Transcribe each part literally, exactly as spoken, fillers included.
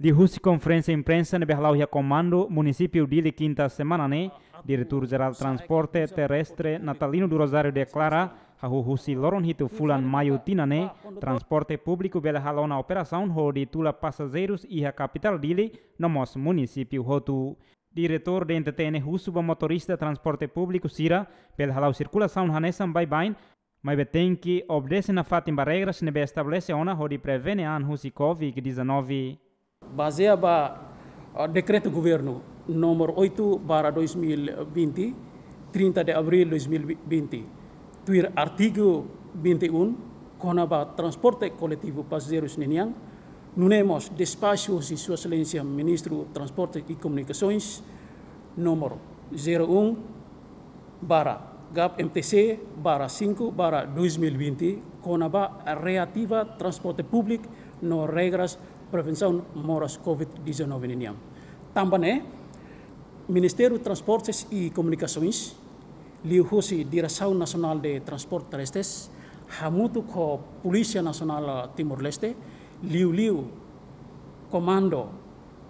Liuhusi konferénsia imprensa ne'ebé hala'o iha Komandu Munisípiu Dili kinta semana ne'e, Diretór Jerál Transporte Terrestre Natalino do Rosário deklara, hahú husi loron hitu fulan Maiu tinan ne'e, transporte públiku bele halo ona operasaun hodi tula pasajeirus iha kapitál Dili no mós munisípiu hotu. Diretór D N T T N husu ba motorista transporte públiku sira bele hala'o sirkulasaun hanesan baibain, maibé tenke obedese nafatin ba regras ne'ebé estabelese ona hodi prevene an husi covid dezanove. Bazeia ba, ah, Dekretu Governu número oito barra dois mil e vinte, trinta de abril dois mil e vinte, tuir artigu vinte e um, kona-ba transporte koletivu pasajeirus ninian, nune'e mós despaxu husi Sua Exelénsia Ministru Transporte e Komunikasoens número zero um barra GAP M T C barra cinco barra dois mil e vinte, kona-ba reativa transporte públiku no regras prevensaun moras covid dezanove ninian. Tanba ne'e, Ministériu Transportes e Komunikasoens, liuhusi Diresaun Nasionál de Transporte Terrestres, hamutuk ho Polísia Nasionál Timor-Leste, liuliu Komandu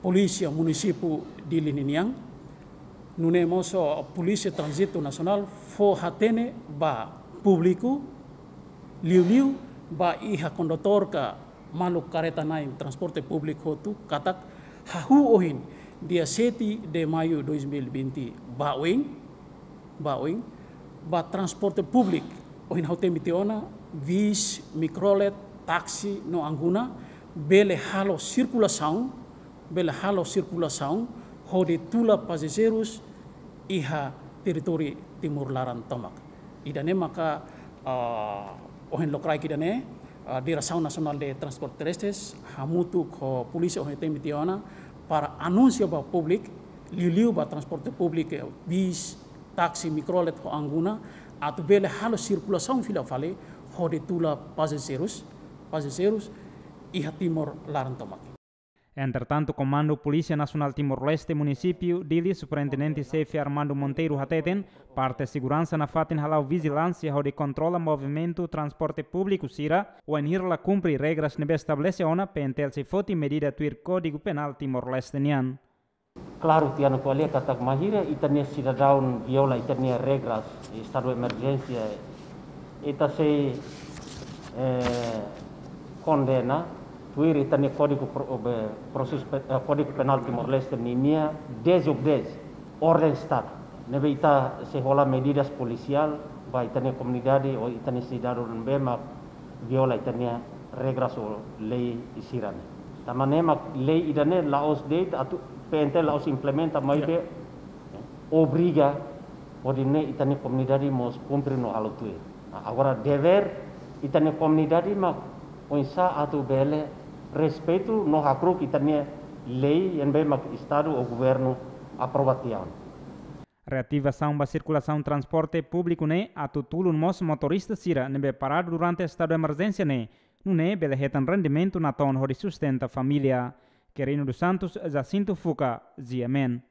Polísia Munisípiu Dili ninian, nune'e mós Polísia Tránzitu Nasionál fó hatene ba públiku, liuliu ba iha kondutór ka maluk kareta-na'in transporte públiku hotu katak hahú ohin dia sete de Maiu dois mil e vinte ba oin, ba oin, ba transporte públiku ohin ha'u temi tiha ona, bis, mikrolet, táksi no angguna bele halo sirkulasaun, bele halo sirkulasaun hodi tula pasajeirus iha territóriu Timor laran tomak. Ida-ne'e maka, ah, ohin lokraik ida-ne'e, ah, Diresaun Nasionál de Transporte Terrestres hamutuk ho polísia ohin temi tiha ona para anunsia ba públiku, liuliu ba transporte públiku, eh, bis, táksi, mikrolet ho angguna, atu bele halo sirkulasaun fila fali hodi tula pasajeirus, pasajeirus iha Timor laran tomak. Entretantu, Komandu Polísia Nasionál Timor-Leste Munisípiu Dili, Superintendente Xefe Armando Monteiro hateten, parte seguransa nafatin hala'o vijilánsia hodi kontrola movimentu transporte públiku sira, wainhira la kumpre regras ne'ebé estabelese ona, P N T L sei foti medida tuir Kódigu Penál Timor-Leste nian. Klaru, tiha ona ko'alia katak bainhira ita-nia sidadaun viola ita-nia regras estadu emerjénsia, ita sei, eh, kondena tuir ita-nia Kódigu Pro-, be, Prosesu Pe-, eh, Kódigu Penál Timor-Leste ninia dezobedese orden Estadu. Ne'ebé ita sei hola medidas polisiál ba ita-nia komunidade ou ita-nia sidadaun ne'ebé mak viola ita-nia regras ou lei sira-ne'e. Tanba ne'e mak lei ida-ne'e la'ós de'it atu P N T la'ós implementa, maibé, ya, obriga hodi nune'e ita-nia komunidade mós kumpre no halo tuir. Nah, agora devér ita-nia komunidade mak oinsá atu bele respeitu no hakru'uk ita-nia lei ne'ebé mak Estadu ou Governu aprova tiha ona. Reativasaun ba sirkulasaun transporte públiku ne'e atu tulun mós motorista sira ne'ebé paradu durante estadu emerjénsia ne'e, nune'e bele hetan rendimentu natoon hodi sustenta família. Querino dos Santos, Jacinto Fuca, G M N.